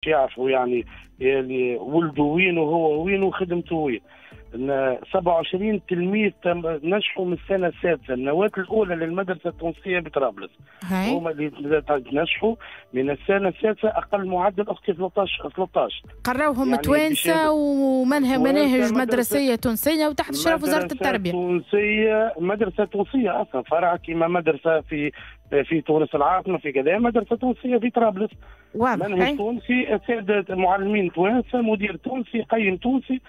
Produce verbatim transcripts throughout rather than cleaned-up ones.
يعرفوا يعني اللي ولده وين وهو وين وخدمته وين. سبعة وعشرين تلميذ نجحوا من السنة السادسة، النواة الاولى للمدرسة التونسية بطرابلس. هما اللي نجحوا من السنة السادسة اقل معدل اختي ثلاثة عشر. قراوهم يعني توانسة ومنهج مناهج مدرسيه تونسية وتحت اشراف وزارة التربية. تونسية، مدرسه تونسية اصلا فرع كيما مدرسه في في تونس العاصمة في كذا، مدرسه تونسية في طرابلس. واضح. منهج تونسي، ساده معلمين توانسة، مدير تونسي، قيم تونسي،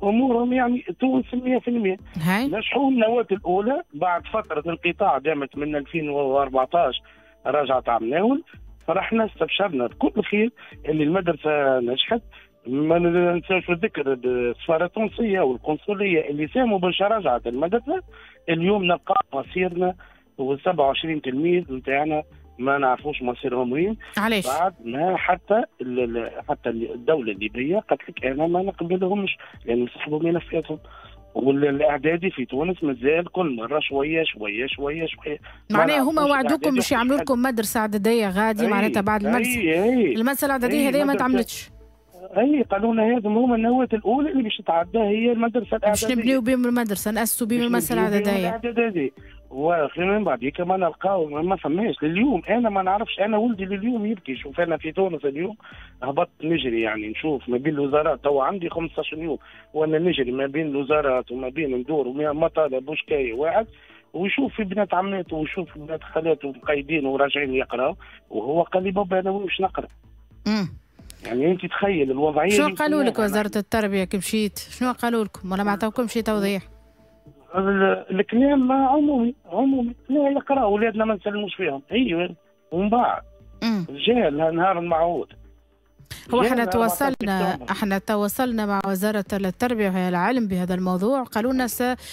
امورهم يعني تونس مية في المية. نجحوا النواة الاولى بعد فترة انقطاع دامت من ألفين وأربعطاش، رجعت عام ناول. فرحنا استبشرنا بكل خير اللي المدرسة نجحت. ما ننساوش الذكر السفارة التونسية والقنصليه اللي ساهموا باش رجعت المدرسة. اليوم نلقى مصيرنا و سبعة وعشرين تلميذ نتاعنا ما نعرفوش مصيرهم وين. علاش؟ بعد ما حتى حتى الدولة الليبية قالت لك انا ما نقبلهمش لان سحبوا ملفاتهم. والاعدادي في تونس مازال كل مرة شوية شوية شوية شوية. معناها هما وعدوكم باش يعملوا لكم مدرسه اعدادية غادي، معناتها بعد المدرسة المدرسة الاعدادية هذه ما تعملتش. اي قالوا لنا هذم هما النواة الاولى اللي باش تتعدى هي المدرسة الاعدادية، باش نبنيو بهم المدرسة، ناسسوا بهم المدرسة الاعدادية. الاعدادية ومن بعد ما نلقاو ما فماش لليوم. انا ما نعرفش، انا ولدي لليوم يبكي. شوف انا في تونس اليوم هبطت نجري يعني نشوف ما بين الوزارات، تو عندي خمسطاش يوم وانا نجري ما بين الوزارات وما بين ندور ومطالب وشكايه واحد، ويشوف في بنات عماته ويشوف في بنات خالاته مقيدين وراجعين يقراو، وهو قال لي بابا انا واش نقرا. امم يعني انت تخيل الوضعية. شنو قالوا لك وزارة التربية كي مشيت؟ شنو قالوا لكم ولا ما عطاوكمش توضيح؟ الكلام عمومي عمومي، لا يقرا اولادنا ما نسلموش فيهم. ايوه ومن بعد جاء النهار المعهود. هو احنا تواصلنا احنا تواصلنا مع وزارة التربية وهي العلم بهذا الموضوع، قالوا لنا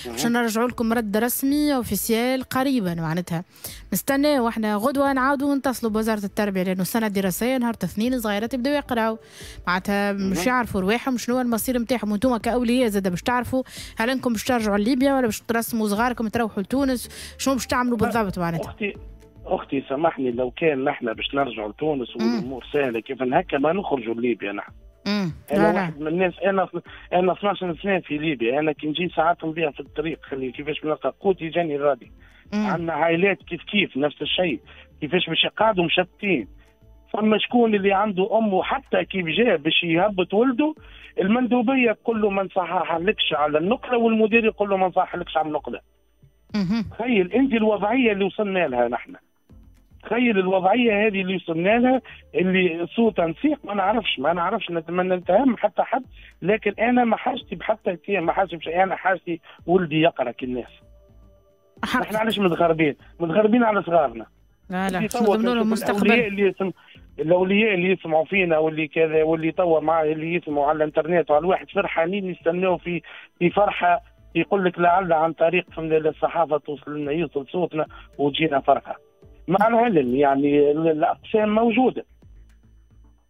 باش نرجعوا لكم رد رسمي officiel قريبا، معناتها نستناو احنا غدوه نعاودوا نتصلوا بوزارة التربية، لانه السنة الدراسية نهار الاثنين الصغيرات يبداو يقراو، معناتها مش يعرفوا رواحهم شنو المصير نتاعهم، وانتم كاولياء زاد باش تعرفوا هل انكم باش ترجعوا لليبيا ولا باش ترسموا صغاركم تروحوا لتونس، شنو باش تعملوا بالضبط معناتها. اختي اختي سامحني، لو كان نحن باش نرجعوا لتونس والامور سهلة كيف هكا ما نخرجوا لليبيا نحن. انا واحد من الناس، انا انا اثناش سنة في ليبيا، انا كي نجي ساعات نضيع في الطريق، خلي كيفاش نلقى قوتي جاني غادي. عندنا عائلات كيف كيف نفس الشيء، كيفاش باش يقعدوا مشتتين. فما شكون اللي عنده امه حتى كيف جاء باش يهبط ولده، المندوبيه تقول له ما نصححلكش على النقلة، والمدير يقول له ما نصححلكش على النقلة. تخيل انت الوضعية اللي وصلنا لها نحن. تخيل الوضعية هذه اللي وصلنا لها، اللي سوء تنسيق ما نعرفش ما نعرفش ما نتهم حتى حد، لكن انا ما حاجتي بحتى ما حاجتي بشيء، انا حاجتي ولدي يقرا كالناس. نحن علاش متغربين؟ متغربين على صغارنا. لا لا نضمنوا لهم مستقبل. اللي يسم... الاولياء اللي يسمعوا فينا واللي كذا واللي توا مع اللي يسمعوا على الانترنت وعلى الواحد فرحانين يستناو في في فرحه، يقول لك لعل عن طريق الصحافة توصل لنا، يوصل صوتنا وتجينا فرحه. مع العلم يعني الاقسام موجودة،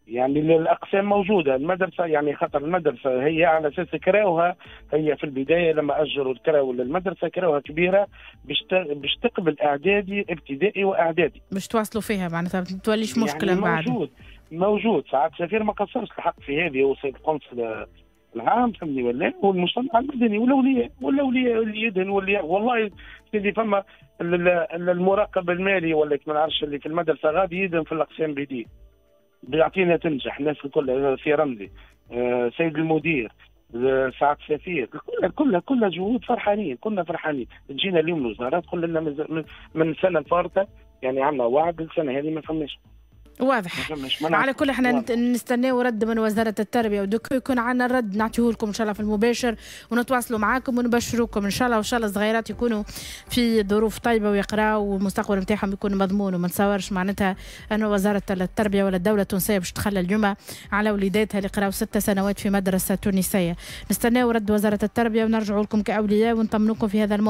يعني الاقسام موجودة، المدرسة يعني خاطر المدرسة هي على اساس كراوها، هي في البداية لما اجروا الكراو للمدرسة كراوها كبيرة باش باش تقبل اعدادي ابتدائي واعدادي، باش تواصلوا فيها معناتها ما توليش مشكلة يعني بعد. موجود موجود ساعات سفير ما قصرش الحق في هذه، هو سيد القنصل العام فهمني ولا والمجتمع المدني والاولياء والاولياء اللي يدهن واللي والله سيدي فما المراقب المالي ولا ما نعرفش اللي في المدرسة غادي يدهن في الاقسام بيديه بيعطينا تنجح الناس الكل في رمزي، آه سيد المدير، آه سعد سفير، كلها كلها كلها جهود فرحانين، كنا فرحانين. تجينا اليوم الوزارة تقول لنا من, من السنة الفارطه يعني عندنا وعد السنة هذه ما فماش. واضح. على كل احنا نستناو رد من وزارة التربية، ودوك يكون عندنا الرد نعطيه لكم ان شاء الله في المباشر، ونتواصلوا معاكم ونبشروكم ان شاء الله، وان شاء الله الصغيرات يكونوا في ظروف طيبة ويقراوا والمستقبل نتاعهم يكون مضمون. وما نتصورش معناتها انه وزارة التربية ولا الدولة التونسية باش تخلى اليوم على وليداتها اللي قراوا ست سنوات في مدرسة تونسية. نستناو رد وزارة التربية ونرجعوا لكم كأولياء ونطمنوكم في هذا الموضوع.